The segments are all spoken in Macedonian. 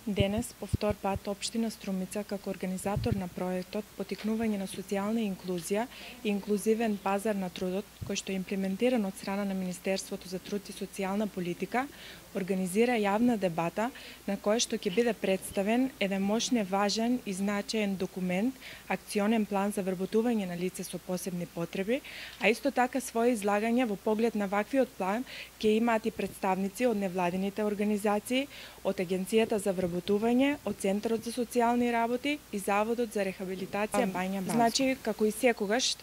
Денес, по втор пат, Општина Струмица, како организатор на проектот Потикнување на социјална инклузија и инклузивен пазар на трудот, кој што е имплементиран од страна на Министерството за труд и социјална политика, организира јавна дебата на која што ќе биде представен еден мощне важен и значаен документ, акционен план за вработување на лица со посебни потреби, а исто така своје излагање во поглед на ваквиот план ќе имаат и представници од невладините организации, од Агенцијата за вработување, од Центарот за социјални работи и Заводот за рехабилитација Бања База. Значи, како и секогаш,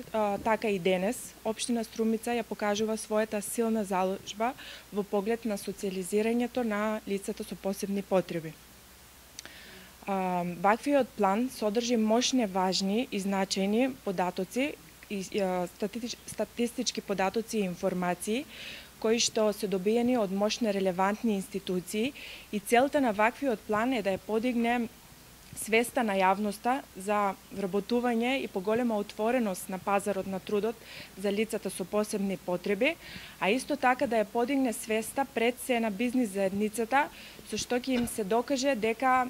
така и денес, Општина Струмица ја покажува својата силна заложба во поглед на социјализирањето на лицата со посебни потреби. Ваквиот план содржи мощни, важни и значајни податоци и статистички податоци и информации кои што се добиени од мощни релевантни институции и целта на ваквиот план е да ја подигне свеста на јавноста за вработување и поголема отвореност на пазарот на трудот за лицата со посебни потреби, а исто така да ја подигне свеста пред се на бизнис заедницата, со што ќе им се докаже дека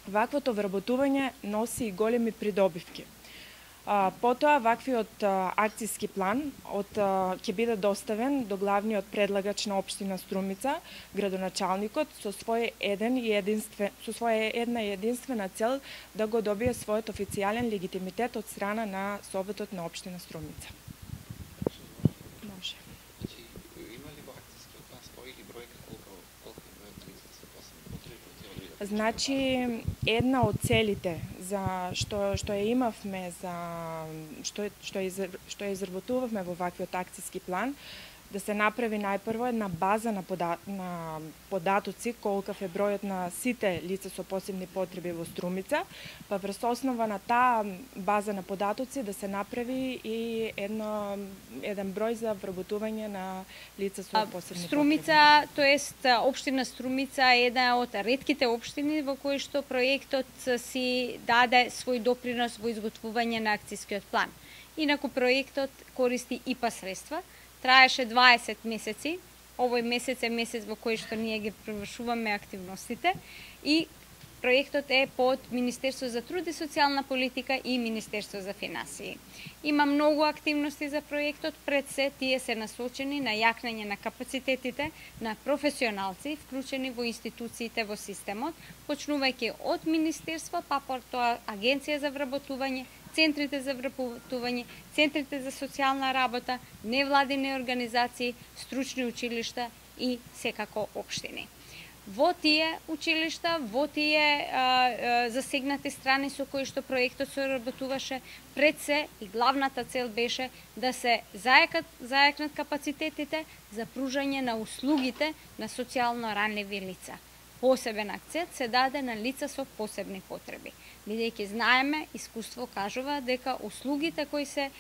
ваквото вработување носи и големи придобивки. Потоа, ваквиот акцијски план ќе биде доставен до главниот предлагач на Општина Струмица, градоначалникот, со своја една единствена цел да го добие својот официјален легитимитет од страна на Советот на Општина Струмица. Може. Значи, една од целите за што ја имавме, што ја изработувавме во ваквиот акцијски план, да се направи најпрво една база на податоци, колкав е бројот на сите лица со посебни потреби во Струмица, па врз основа на таа база на податоци да се направи и еден број за вработување на лица со посебни Струмица, тоест Општина Струмица е една од ретките општини во кои што проектот си даде свој допринос во изготвување на акцијскиот план. Инаку проектот користи ИПА средства, траеше 20 месеци. Овој месец е месец во кој што ние ги привршуваме активностите и проектот е под Министерство за труд и социјална политика и Министерство за финансии. Има многу активности за проектот, пред се тие се насочени на јакнење на капацитетите на професионалци вклучени во институциите во системот, почнувајќи од Министерство, па потоа Агенција за вработување, центрите за вработување, центрите за социјална работа, невладини организации, стручни училишта и секако општини. Во тие училишта, во тие засегнати страни со кои што проектот се работуваше, пред се и главната цел беше да се зајакнат капацитетите за пружање на услугите на социјално ранливи лица. Посебен акцент се даде на лица со посебни потреби, бидејќи знаеме, искуство кажува дека услугите кои се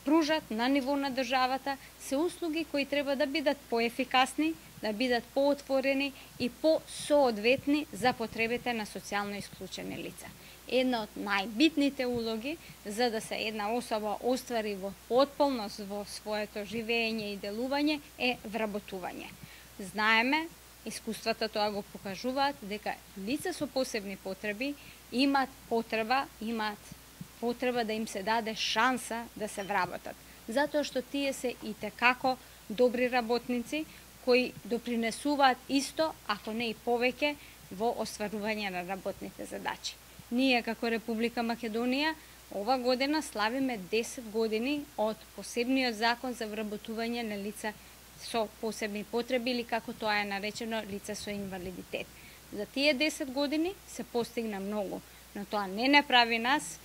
пружат на ниво на државата се услуги кои треба да бидат поефикасни, да бидат поотворени и посоодветни за потребите на социјално исклучени лица. Една од најбитните улоги за да се една особа оствари во потполност во своето живење и делување е вработување. Знаеме, искуствата тоа го покажуваат дека лица со посебни потреби имаат потреба да им се даде шанса да се вработат, затоа што тие се и tekako добри работници кои допринесуваат исто, ако не и повеќе, во остварување на работните задачи. Ние како Република Македонија ова година славиме 10 години од посебниот закон за вработување на лица со посебни потреби или како тоа е наречено лица со инвалидитет. За тие 10 години се постигна многу, но тоа не прави нас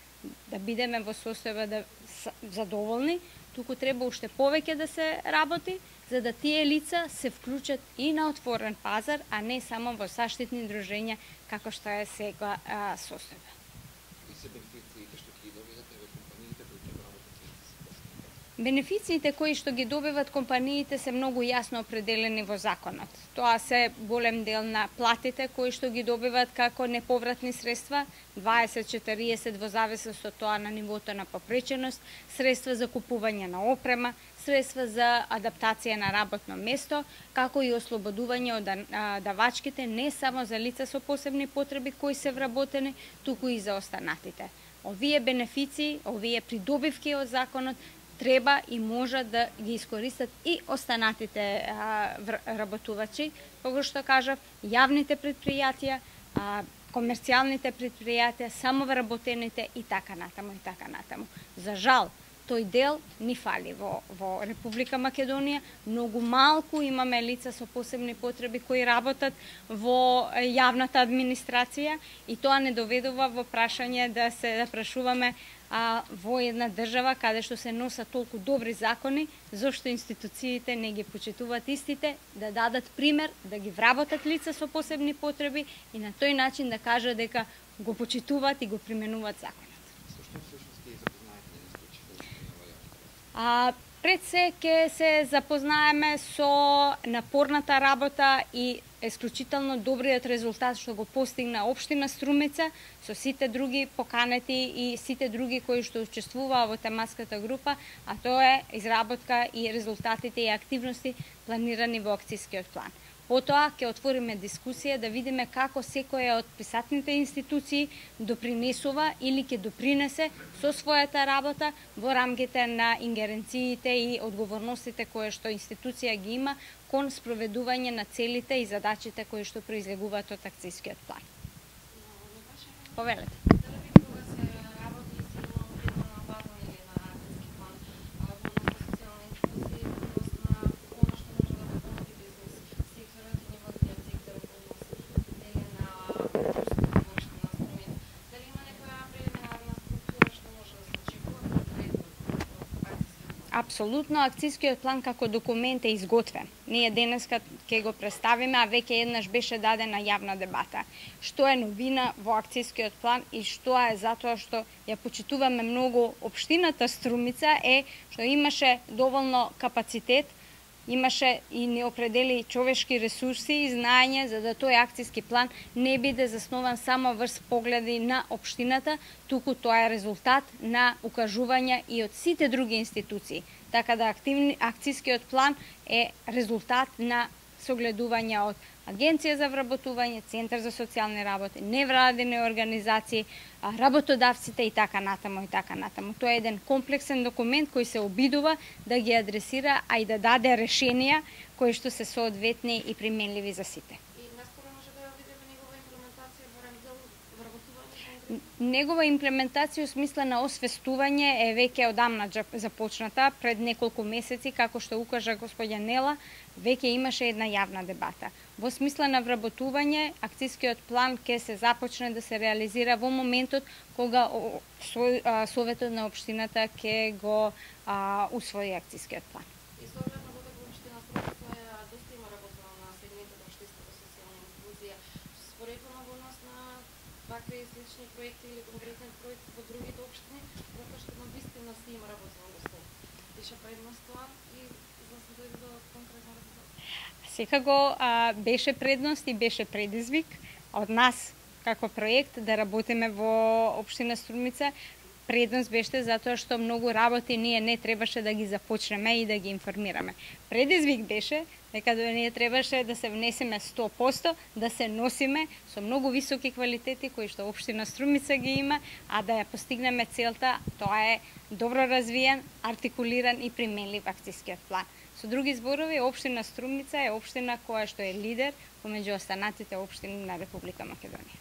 да бидеме во состојба да задоволни, туку треба уште повеќе да се работи, за да тие лица се вклучат и на отворен пазар, а не само во заштитни дружења, како што е сега состојба. Бенефициите кои што ги добиват компаниите се многу јасно определени во законот. Тоа се голем дел на платите кои што ги добиват како неповратни средства, 20-40 во зависност од тоа на нивото на попреченост, средства за купување на опрема, средства за адаптација на работно место, како и ослободување од давачките не само за лица со посебни потреби кои се вработени, туку и за останатите. Овие бенефиции, овие придобивки од законот треба и може да ги искористат и останатите работувачи, кога што кажав, јавните предпријатија, комерцијалните предпријатија, самовработените и така натаму и така натаму. За жал, тој дел ни фали во Република Македонија. Многу малку имаме лица со посебни потреби кои работат во јавната администрација и тоа не доведува во прашање да се прашуваме во една држава каде што се носат толку добри закони, зошто институциите не ги почитуваат истите, да дадат пример, да ги вработат лица со посебни потреби и на тој начин да кажат дека го почитуваат и го применуваат законот. Пред се ќе се запознаеме со напорната работа и исклучително добриот резултат што го постигна општина Струмица со сите други поканети и сите други кои што учествуваа во тематската група, а тоа е изработка и резултатите и активности планирани во акцискиот план. Потоа ќе отвориме дискусија да видиме како секоја од присатните институции допринесува или ќе допринесе со својата работа во рамките на ингеренциите и одговорностите кои што институција ги има кон спроведување на целите и задачите кои што произлегуваат од акцискиот план. Повелете. Апсолутно, акцискиот план како документ е изготвен. Ние денеска ќе го представиме, а веќе еднаш беше дадена јавна дебата. Што е новина во акцискиот план и што е затоа што ја почитуваме многу општината Струмица е што имаше доволно капацитет, имаше и неопредели човешки ресурси и знаење за да тој акциски план не биде заснован само врз погледи на општината, туку тоа е резултат на укажувања и од сите други институции. Така да акцискиот план е резултат на согледување од Агенција за вработување, Центар за социјални работи, невладини организации, работодавците и така натаму и така натаму. Тоа е еден комплексен документ кој се обидува да ги адресира, а и да даде решенија кои што се соодветни и применливи за сите. И наскоро може да видиме негова имплементација во раздел вработување? Негова имплементација во смисла на освестување е веќе одамна започната, пред неколку месеци, како што укажа господја Нела, веќе имаше една јавна дебата. Во смисла на вработување, акцискиот план ќе се започне да се реализира во моментот кога Советот на општината ќе го усвои акцискиот план. И со оглед на додека општина Струмица доста има работено на сегментот на општинската социјална инклузија, споредно во однос на вакви слични проекти или конкретен проект во другите општини, затоа што на вистина се има работено доста. Беше предност тоа и за да се дојде до конкретно резултат. Секако беше предност и беше предизвик од нас како проект да работиме во општина Струмица. Предност беше затоа што многу работи ние не требаше да ги започнеме и да ги информираме. Предизвик беше дека ние требаше да се внесеме 100%, да се носиме со многу високи квалитети кои што општина Струмица ги има, а да ја постигнеме целта, тоа е добро развиен, артикулиран и применлив акцискиот план. Со други зборови, општина Струмица е општина која што е лидер помеѓу останатите општини на Република Македонија.